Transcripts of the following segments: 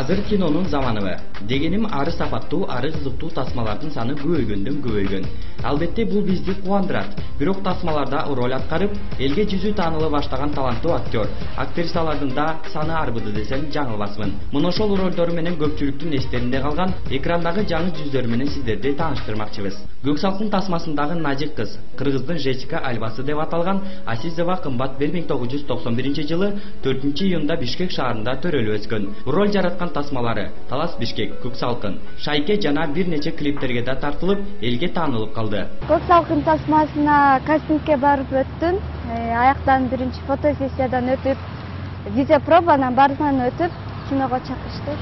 Азыр кинонун заманыбы. Дегеним ары сапаттуу, ары кызыктуу тасмалардын саны көбөйгөндөн. Албетте бул бизди кубандырат. Бирок тасмаларда роль аткарып, элге жүзү тааныла баштаган таланттуу актер, актрисалардын да саны арбыды десем жаңылбасмын. Мына ошол ролдору менен көпчүлүктүн эстеринде калган экрандагы жаңы жүздөрү менен сиздерди тааныштырмакчыбыз. Көк салкын тасмасындагы нажык кыз, кыргыздын Жечика Альбасы деп аталган Асизова кымбат 1991 жылы 4-июнда Бишкек шаарында төрөлүп өскөн. Роль жараткан тасмалары Талас Бишкек, Көк салкын, Шайке жана бир нече клиптерге да тартылып, элге таанылып калды. Көк салкын тасмасына кастингке барып өттүм. Аяктан биринчи фотосессиядан өтүп, видеопробанан баарынан өтүп, киного чакырышты.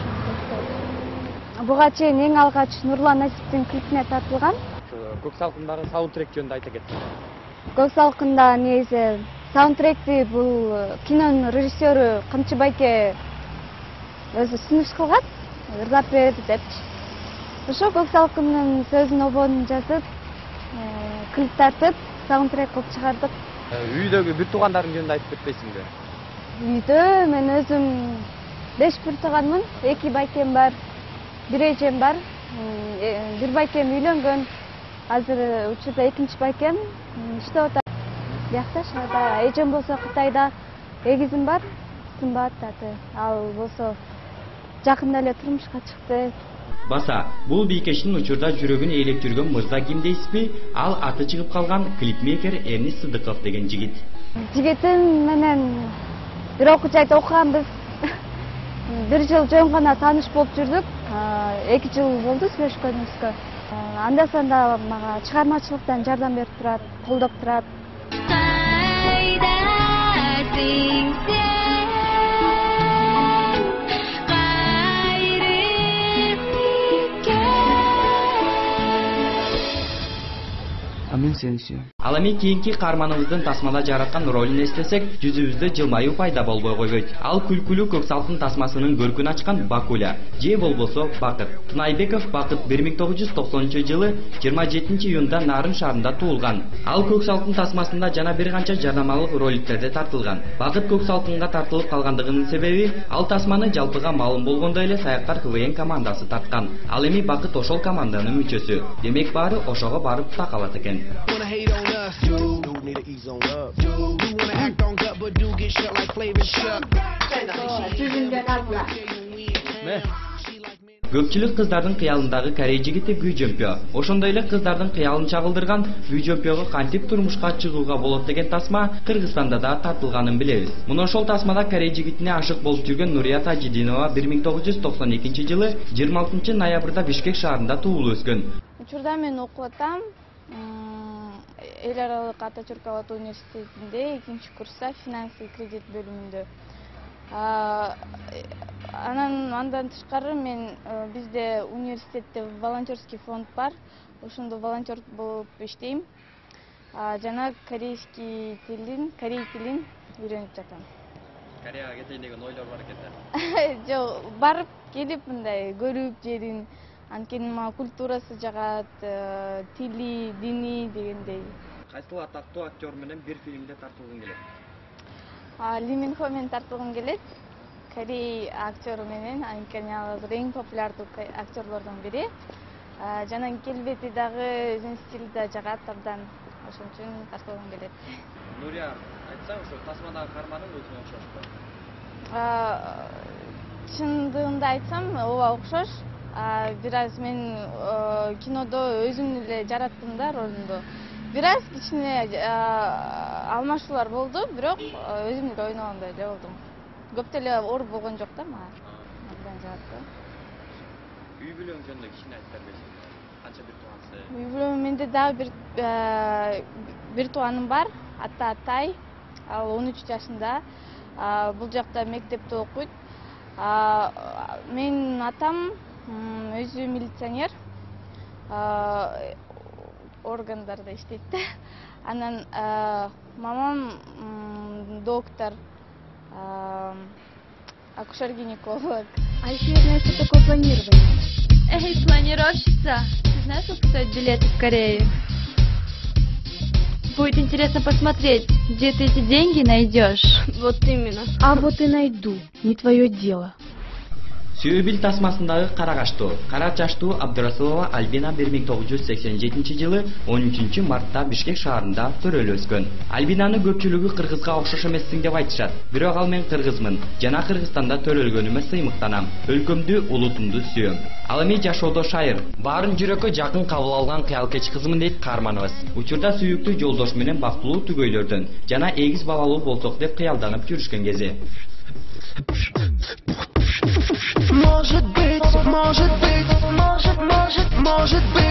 Буга чейин эң алгач Нурлан Насиптин клипине тартылган. Көк салкындагы саундтрек жөнүндө айта кетсең. Көк салкында негизи саундтректи бул кинонун режиссеру Камчы байке өзү сунуш кылган, ырдап берди депчи. Ошо Көк салкындын сөзүн обонун жазып, клип тартып, саундтрек кылып чыгардык. Үйдөгү бир туугандарың жөнүндө айтып кетпейсиңби? Үйдө мен өзүм 5 бир тууганмын, 2 байкем бар, 1 эжем бар. Бир байкем үйлөнгөн. Азыр учурда 2-чи байкем иштеп атат. Бияқта шаарда, эжем болсо Кытайда, эгизим бар, Сымбат аты. Ал болсо жакында эле турмушка чыкты. Баса, бул бийкештин учурда жүрөгүн ээлеп жүргөн мырза ким дейсизби? Ал аты чыгып калган клипмейкер Эрнис Сыдыков деген жигит. Жигитим менен бир окуу жайда окуганбыз. 1 жыл жөн гана тааныш болуп жүрдүк. 2 жыл болду сүйлөшкөнүбүзгө. Анда-санда мага чыгармачылыктан жардам берип турат, колдоп турат. Мен сени сүйөм. Ал эми кийинки каарманыбыздын тасмада жараткан ролун эстесек, жүзүбүздө жылмаюу пайда болбой койбойт. Ал күлкүлүү Көк салкын тасмасынын көркүн ачкан Бакуля, же болбосо Бакыт. Тунайбеков Бакыт 1990 жылы 27-июнда Нарын шаарында туулган. Ал Көк салкын тасмасында жана бир канча жарнамалык роликтерде тартылган. Бакыт Көк салкынга тартылып калгандыгынын себеби ал тасманы жалпыга маалым болгондой эле Саяктар КВН командасы тарткан. Ал эми Бакыт ошол команданын мүчөсү. Демек баары ошого барып такалат экен. Wanna hate on us, dude. Dude need to ease on up, dude. You wanna act on gut, but do get shut like Flavor Chuck. Көпчүлүк кыздардын кыялындагы корей жигити Гү Жөмпө. Ошондой эле кыздардын кыялын чагылдырган Гү Жөмпөгө кантип турмушка чыгууга болот деген тасма Кыргызстанда да тартылганын билебиз. Мына ошол тасмада корей жигитине ашык болуп жүргөн Нурия Тажидинова 1992 жылы 26 ноябрда Бишкек шаарында туулуп өскөн. Учурда мен окуп атам. Эл аралык Ататюрк Ават университетинде 2-курста финанс и кредит бөлүмүндө. Андан тышкары мен бизде университетте волонтерский фонд бар. Ошондо волонтер болуп иштейм. Жана корей тилин үйрөнүп жатам. Кореяга кетейин деген ойлор бар экен да? Жок, барып келип мындай көрүп жерин, анткени мага культурасы жагат, тили, дини дегендей. Кайсыл атактуу актер менен бир фильмде тартылгың келет? Ли Мин Хо менен тартылгым келет. Корей актеру менен, анткени ал эң популярдуу актерлордун бири. Жана келбети дагы өзүнүн стили да жагат абдан. Ошон үчүн тартылгым келет. Нурия, айтсаң, ошо тасмадагы каарманың өзүнө окшошпу? Чындыгында айтсам, ооба окшош. Бир аз мен кинодо өзүм эле жараттым да ролумду. Бир аз кичине алмашуулар болду, бирок өзүм эле ойногондой эле болдум. Көп деле оор болгон жок да мага. Абдан жагат. Үй бүлөң жөнүндө кичине айтып бербейсиңби? Канча бир туугансыз? Үй бүлөм менде дагы бир тууганым бар, аты Атай. Ал 13 жашында. Бул жакта мектепте окуйт. Менин атам өзү милиционер, органдарда иштейт да. Анан мамам доктор, акушер-гинеколог. А еще я знаю, что такое планирование. Эй, планировщица, ты знаешь, сколько стоят билеты в Корею? Будет интересно посмотреть, где ты эти деньги найдешь. Вот именно. А вот и найду, не твое дело. Сүйөбил тасмасындагы карагаштуу, кара чачтуу Абдырасулова Альбина 1987 жылы 13 мартта Бишкек шаарында төрөлүп өскөн. Альбинаны көпчүлүгү кыргызга окшош эмессиң деп айтышат. Бирок ал мен кыргызмын жана Кыргызстанда төрөлгөнүмө сыймыктанам. Өлкөмдү, улутумду сүйөм. Ал эми жашоодо шайыр. Баарын жүрөккө жакын кабыл алган кыялкеч кызмын дейт каарманыбыз. Учурда сүйүктүү жолдош менен бактылуу түгөйлөрдөн жана эгиз балалуу болсок деп кыялданып жүрүшкөн кези. Может быть, может быть, может быть.